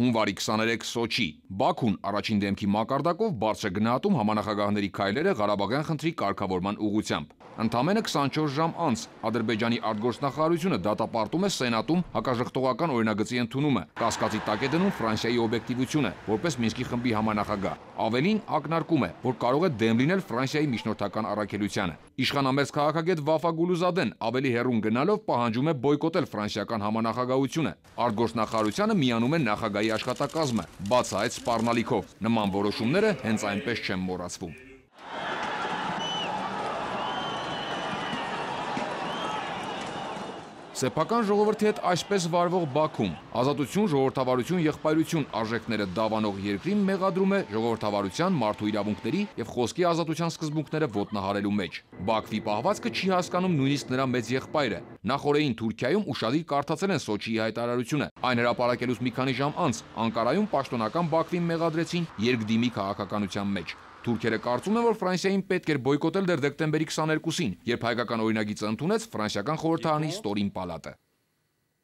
Հունվարի 23 Սոչի։ Բաքուն առաջին դեմքի մակարդակով բարձր է գնահատում համանախագահների քայլերը Ղարաբաղյան խնդրի կարգավորման ուղղությամբ։ Ընդամենը 24 ժամ անց Ադրբեջանի արտգործնախարարությունը դատապարտում է Սենատում հակաժխտողական օրինագծի ընդունումը, կասկածի տակ է դնում Ֆրանսիայի օբյեկտիվությունը, որպես Մինսկի խմբի համանախագահ։ Ավելին, ակնարկում է, որ կարող է դեմ լինել Ֆրանսիայի միջնորդական առաքելությանը։ Իշխանամերձ քաղաքագետ Վաֆա Գուլուզադեն ավելի հեռուն գնալով պահանջում է բոյկոտել ֆրանսիական համանախագահությունը։ Արտգործնախարարությանը միանում է նախագահի աշխատակազմը, բացահայտ սպառնալիքով։ Նման որոշումները հենց այնպես չեն մոռացվում։ Սեփական ժողովրդի հետ այսպես վարվող Բաքուն ազատություն, ժողովրդավարություն, եղբայրություն արժեքները դավանող երկրին մեղադրում է ժողովրդավարության, մարդու իրավունքների եւ խոսքի ազատության սկզբունքները ոտնահարելու մեջ։ Բաքվի պահվածքը չի հասկանում նույնիսկ նրա մեծ եղբայրը։ Նախորդին Թուրքիայում ուշադիր կարդացել են Սոչիի հայտարարությունը։ Այն հրապարակելուց մի քանի ժամ անց Անկարայում պաշտոնական Բաքվին մեղադրեցին երկդիմի քաղաքականության մեջ։ Թուրքերը կարծում են, որ Ֆրանսիային պետք էր բոյկոտել դեռ դեկտեմբերի 22-ին, երբ հայկական օրինագիծը ընդունեց ֆրանսիական խորհրդարանի ստորին պալատը։